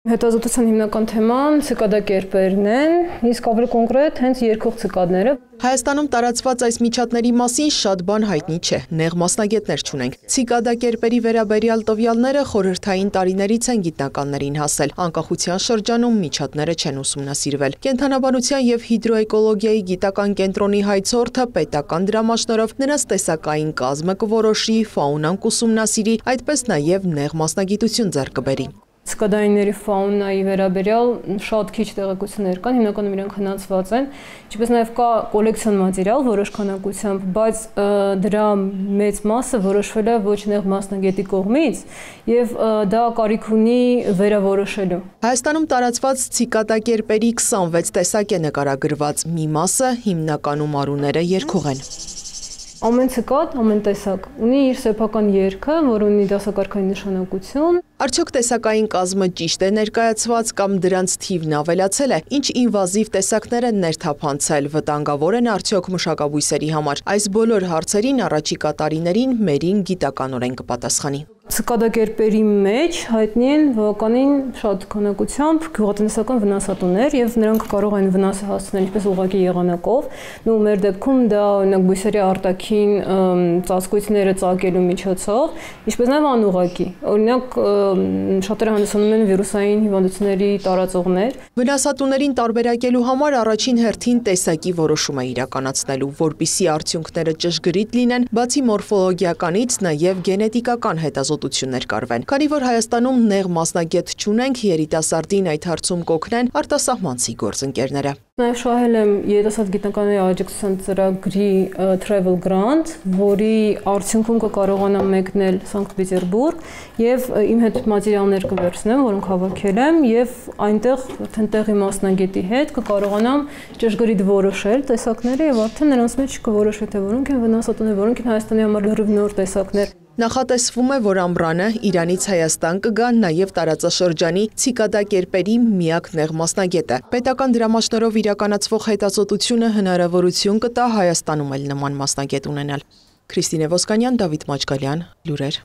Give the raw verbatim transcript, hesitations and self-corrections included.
Հետազոտության հիմնական թեման ցիկադակերպերն են, իսկ ավելի կոնկրետ հենց երգող ցիկադները։ Հայաստանում տարածված այս միջատների մասին շատ բան հայտնի չէ, նեղ մասնագետներ չունենք։ Ցիկադակերպերի վերաբերյալ տվյալները խորհրդային տարիներից են գիտնականներին հասել, անկախության շրջանում միջատները չեն ուսումնասիրվել։ Կենդանաբանության և հիդրոէկոլոգիայի գիտական կենտրոնի հայցորդը պետական դրամաշնորհով նրանց տեսակային կազմը կորոշի, ֆաունան կուսումնասիրի, այդպես նաև նեղ մասնագիտություն ձեռք կբերի։ Ցիկադայինների ֆաունայի վերաբերյալ շատ քիչ տեղեկություններ կան, հիմնականում իրենք հնացված են, ինչպես նաև կա կոլեկցիոն մատերիալ որոշ քանակությամբ, բայց դրա մեծ մասը որոշվել է ոչ նեղ մասնագետի կողմից եւ դա կարիք ունի վերավորոշելու։ Հայաստանում տարածված ցիկադակերպերի քսանվեց տեսակ է նկարագրված, մի մասը հիմնականում արուները երգող են։ Ամեն ցիկադ, ամեն տեսակ ունի իր սեփական երգը, որը ունի դասակարգային նշանակություն։ Արդյոք տեսակային կազմը ճիշտ է ներկայացված կամ դրանց թիվն ավելացել է, ինչ ինվազիվ տեսակներ են ներթափանցել, վտանգավոր են արդյոք մշակաբույսերի համար։ Այս բոլոր հարցերին առաջիկա տարիներին մերին գիտականորեն կպատասխանի։ Ցիկադակերպերի մեջ հայտնի են բավականին շատ քանակությամբ գյուղատնտեսական վնասատուներ եւ նրանք կարող են վնաս հասցնել ինչպես ուղղակի եղանակով, ու մեր դեպքում դա օրինակ բույսերի արտաքին ծածկույթները ծակելու միջոցով, ինչպես նաեւ անուղղակի։ Օրինակ շատերը հանդիսանում են վիրուսային հիվանդությունների տարածողներ։ Վնասատուներին տարբերակելու համար առաջին հերթին տեսակի որոշում է իրականացնելու, որպիսի արդյունքները ճշգրիտ լինեն, բացի մորֆոլոգիականից նաև գենետիկական հետազոտություններ կարվեն։ Քանի որ Հայաստանում նեղ մասնագետ չունենք, երիտասարդին այդ հարցում կօգնեն արտասահմանցի գործընկերները։ Նաև շահել եմ երիտասարդ գիտնականների աջակցության ծրագրի Travel Grant, որի արդյունքում կկարողանամ մեկնել Սանկտ Պետերբուրգ եւ իմ հետ մատերիալներ կվերցնեմ, որոնք հավաքել եմ, եւ այնտեղ արդեն տեղի մասնագետի հետ կկարողանամ ճշգրիտ որոշել տեսակները եւ արդեն նրանց մեջ կորոշվի թե որոնք են վնասատուներ, որոնք են Հայաստանի համար լրիվ նոր տեսակներ։ Նախատեսվում է, որ ամռանը Իրանից Հայաստան կգա նաև տարածաշրջանի ցիկադակերպերի միակ նեղ մասնագետը։ Պետական դրամաշնորհով իրականացվող հետազոտությունը հնարավորություն կտա Հայաստանում էլ նման մասնագետ ունենալ։ Քրիստինե Ոսկանյան, Դավիթ Մաչկալյան, լուրեր։